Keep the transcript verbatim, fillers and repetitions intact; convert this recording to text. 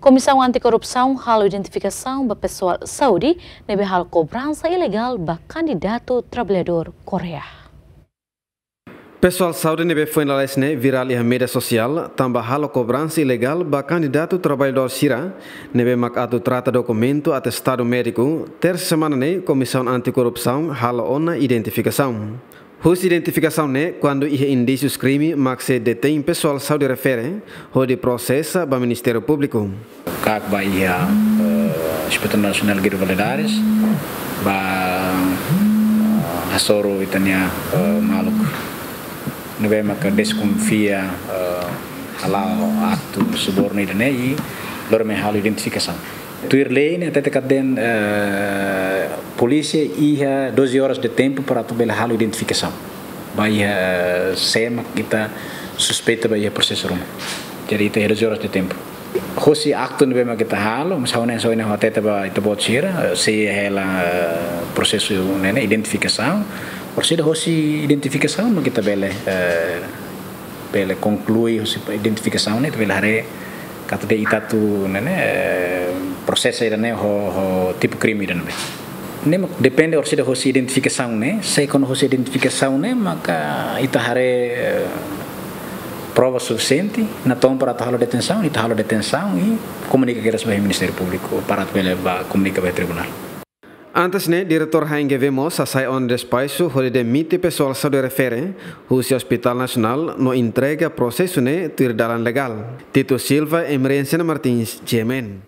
Komisaun Anti-Korrupsaun halo identifikasaun ba pesoál saúde ne'ebé halo kobransa ilegál ba kandidatu traballadór Koreia. Pesoál saúde ne'ebé foin lalais ne'e virál iha média sosiál, tanba halo kobransa ilegál ba kandidatu traballadór sira ne'ebé mak atu trata dokumentu atestadu médiku. Tersa semana ne'e, Komisaun Anti-Korrupsaun halo ona identifikasaun. Husi identifikasaun ne'e, kuandu iha indísius krime, mak sei detein pesoál saúde refere, hodi prosesa ba Ministériu Públiku. Kak ba iha, eh, Inspetór Nasionál Guido Valadares, ba, eh, hasoru ita-nia, eh, maluk ne'ebé maka deskonfia, eh, hala'o aktu subornu ida-ne'e, i lori mai halo identifikasaun. Tuir lei ne'e, hatete katak, eh, polísia iha doze horas de tempu para atu bele halo identifikasaun ba iha, eh, sé mak ita suspeita ba iha prosesu ruma. Jadi ita iha doze horas de tempu. Hosi aktu ne'ebé mak ita halo, mas ha'u ne'e, ha'u ne'e hatete ba ita-boot sira, eh, sei hela, eh, prosesu ne'e, ne'e identifikasaun. Orsida hosi identifikasaun mak ita bele, eh, bele konklui hosi identifikasaun ne'e, ita bele haree katak ita atu ne'e, ne'e, eh, prosesa ida-ne'e ho, ho tipu krime ida-ne'ebé. Ne'e mak depende orsida hosi identifikasaun ne'e, se kuandu hosi identifikasaun ne'e, maka ita haree, eh, prova sufisiente, natoon para atu halo detensaun, ita halo detensaun i komunika kedas ba Ministériu Públiku, para atu bele ba komunika ba tribunál. Antes ne'e, Diretór H N G V mós hasai ona despaxu hodi demite pesoál saúde refere husi Hospitál Nasionál no entrega prosesu ne'e tuir dalan legál. Tito Silva, Emerenciana Martins, G M N.